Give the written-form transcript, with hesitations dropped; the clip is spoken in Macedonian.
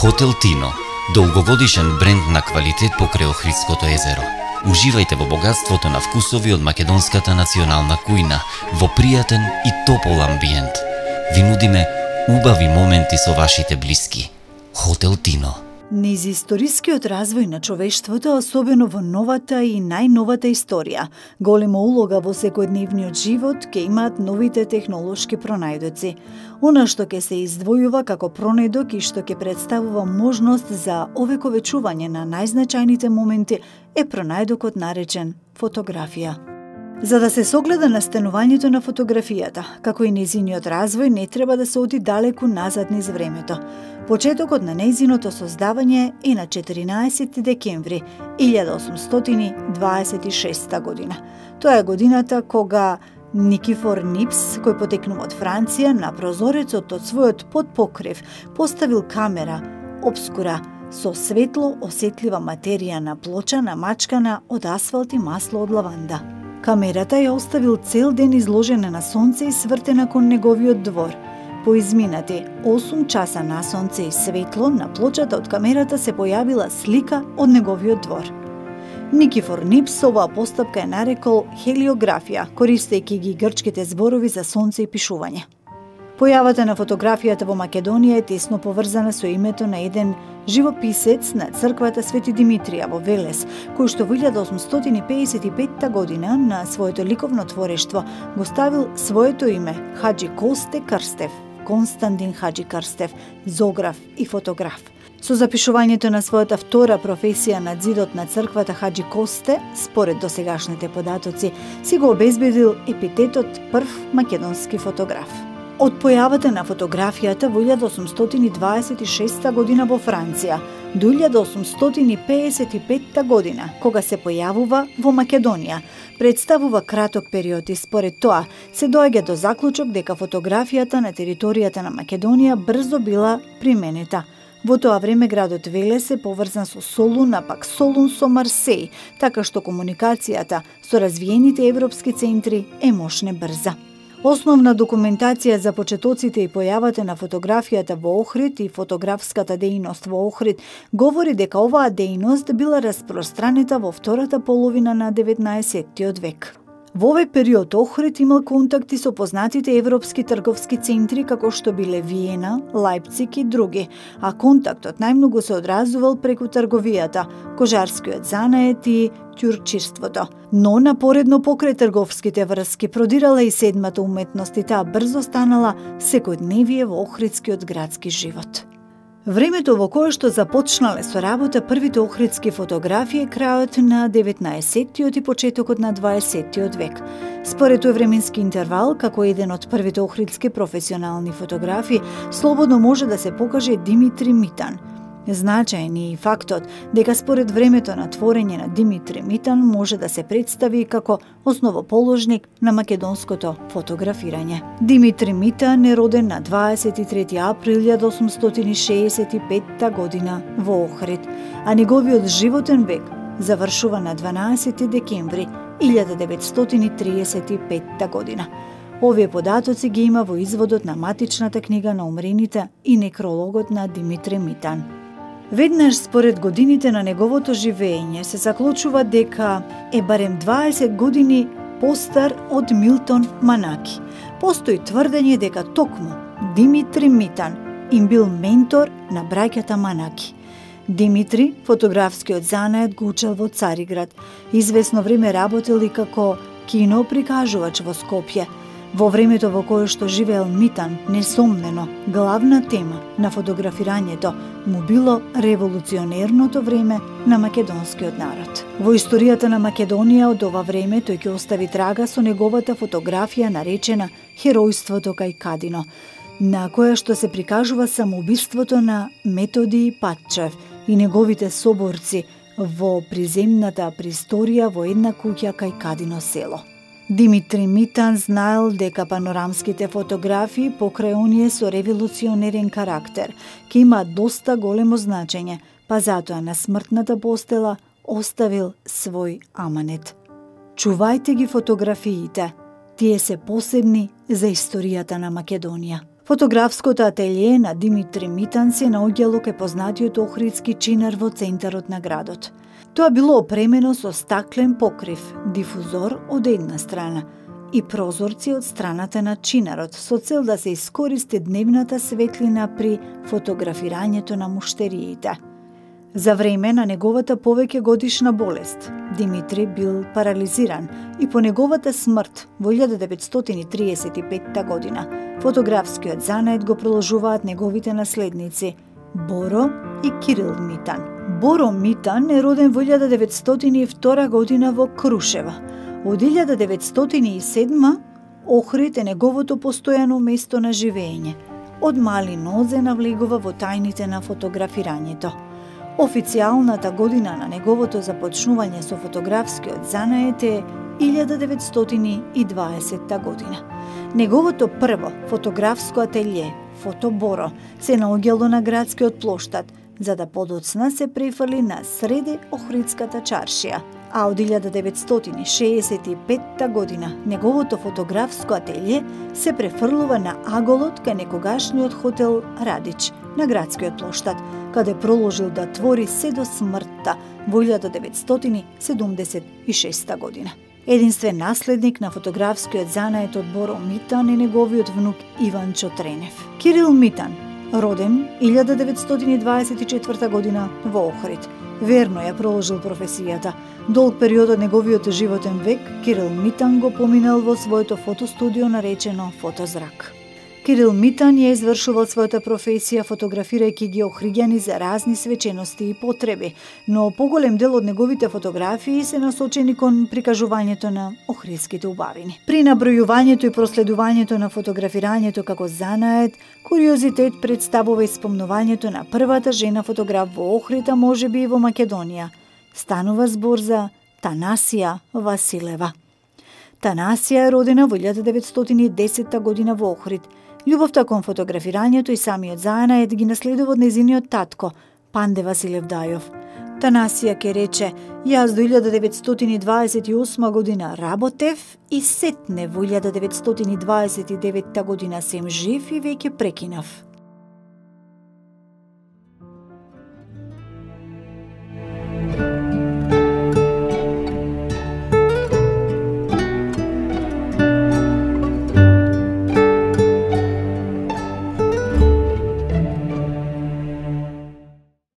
Хотел Тино, долгогодишен бренд на квалитет покрај Охридското езеро. Уживајте во богатството на вкусови од македонската национална кујна, во пријатен и топол амбиент. Ви нудиме убави моменти со вашите блиски. Хотел Тино. Низ историскиот развој на човештвото, особено во новата и најновата историја, голема улога во секојдневниот живот ќе имаат новите технолошки пронајдоци. Она што ќе се издвојува како пронајдок и што ќе представува можност за овековечување на најзначајните моменти е пронајдокот наречен фотографија. За да се согледа настанувањето на фотографијата, како и нејзиниот развој, не треба да се оди далеку назад низ времето. Почетокот на нејзиното создавање е на 14 декември 1826 година. Тоа е годината кога Никифор Нипс, кој потекнува од Франција, на прозорецот од својот подпокрив поставил камера обскура со светло осетлива материја на плоча намачкана од асфалт и масло од лаванда. Камерата ја оставил цел ден изложена на сонце и свртена кон неговиот двор. По изминати 8 часа на сонце и светло, на плочата од камерата се појавила слика од неговиот двор. Никифор Нипс оваа постапка е нарекол хелиографија, користејќи ги грчките зборови за сонце и пишување. Појавата на фотографијата во Македонија е тесно поврзана со името на еден живописец на црквата Свети Димитрија во Велес, кој што во 1855 година на своето ликовно творештво го ставил своето име Хаџи Косте Крстев, Константин Хаџи Крстев, зоограф и фотограф. Со запишувањето на својата втора професија на ѕидот на црквата Хаџи Косте, според досегашните податоци, си го обезбедил епитетот прв македонски фотограф. Од појавата на фотографијата во 1826 година во Франција до 1855 година, кога се појавува во Македонија, представува краток период и според тоа се доаѓа до заклучок дека фотографијата на територијата на Македонија брзо била применета. Во тоа време градот Велес е поврзан со Солун, а пак Солун со Марсеј, така што комуникацијата со развиените европски центри е мощне брза. Основна документација за почетоците и појавата на фотографијата во Охрид и фотографската дејност во Охрид говори дека оваа дејност била распространета во втората половина на 19 век. Во овој период Охрид имал контакти со познатите европски трговски центри како што биле Виена, Лајпциг и други, а контактот најмногу се одразувал преку трговијата, кожарскиот занает и ќурчирството. Но напоредно покрај трговските врски продирала и седмата уметност и таа брзо станала секојдневие во охридскиот градски живот. Времето во кое што започнале со работа првите охридски фотографи е крајот на 19-тиот и почетокот на 20-тиот век. Според тој временски интервал, како еден од првите охридски професионални фотографи, слободно може да се покаже Димитри Митан. Значаен е и фактот дека според времето на творење на Димитри Митан може да се представи како основоположник на македонското фотографирање. Димитри Митан е роден на 23 април 1865 година во Охрид, а неговиот животен век завршува на 12 декември 1935 година. Овие податоци ги има во изводот на матичната книга на умрените и некрологот на Димитри Митан. Веднаш според годините на неговото живење се заклучува дека е барем 20 години постар од Милтон Манаки. Постои тврдење дека токму Димитри Митан им бил ментор на браќата Манаки. Димитри, фотографскиот занает го учел во Цариград. Извесно време работел и како киноприкажувач во Скопје. Во времето во кое што живеел Митан, несомнено, главна тема на фотографирањето му било револуционерното време на македонскиот народ. Во историјата на Македонија од ова време тој ќе остави трага со неговата фотографија наречена Херојството кај Кадино, на која што се прикажува самоубиството на Методи Патчев и неговите соборци во приземната присторија во една куќа кај Кадино село. Димитри Митан знаел дека панорамските фотографии покрај оние со револуционерен карактер ќе имаат доста големо значење, па затоа на смртната постела оставил свој аманет. Чувајте ги фотографиите, тие се посебни за историјата на Македонија. Фотографското ателје на Димитри Митан се наоѓало кај познатиот охридски чинар во центарот на градот. Тоа било опремено со стаклен покрив, дифузор од една страна и прозорци од страната на чинарот со цел да се искористи дневната светлина при фотографирањето на муштериите. За време на неговата повеќе годишна болест, Димитри бил парализиран и по неговата смрт во 1935 година фотографскиот занает го продолжуваат неговите наследници Боро и Кирил Митан. Боро Митан е роден во 1902 година во Крушева. Од 1907 Охрид е неговото постојано место на живење. Од мали нозе навлегува во тајните на фотографирањето. Официјалната година на неговото започнување со фотографскиот занает е 1920 година. Неговото прво фотографско ателје, Фотоборо, се наоѓало на градскиот плоштад, за да подоцна се префрли на среде Охридската чаршија. А од 1965 година неговото фотографско ателје се префрлува на аголот кај некогашниот хотел Радич на градскиот плоштад, каде проложил да твори се до смртта во 1976 година. Единствен наследник на фотографскиот занает од Боро Митан е неговиот внук Иван Чотренев. Кирил Митан, роден 1924 година во Охрид. Верно ја проложил професијата. Долг период од неговиот животен век Кирил Митан го поминал во своето фотостудио наречено Фотозрак. Кирил Митан ја извршувал својата професија фотографирајќи ги охриѓани за разни свечености и потреби, но поголем дел од неговите фотографии се насочени кон прикажувањето на охридските убавини. При набројувањето и проследувањето на фотографирањето како занает, куриозитет представува испомнувањето на првата жена фотограф во Охрид, а можеби и во Македонија. Станува збор за Танасија Василева. Танасија е родена во 1910 година во Охрид. Љубовта кон фотографирањето и самиот занает ги наследува од незиниот татко, Панде Василев Дајов. Танасија ке рече: јас до 1928 година работев и сетне во 1929 година сем жив и веќе прекинав.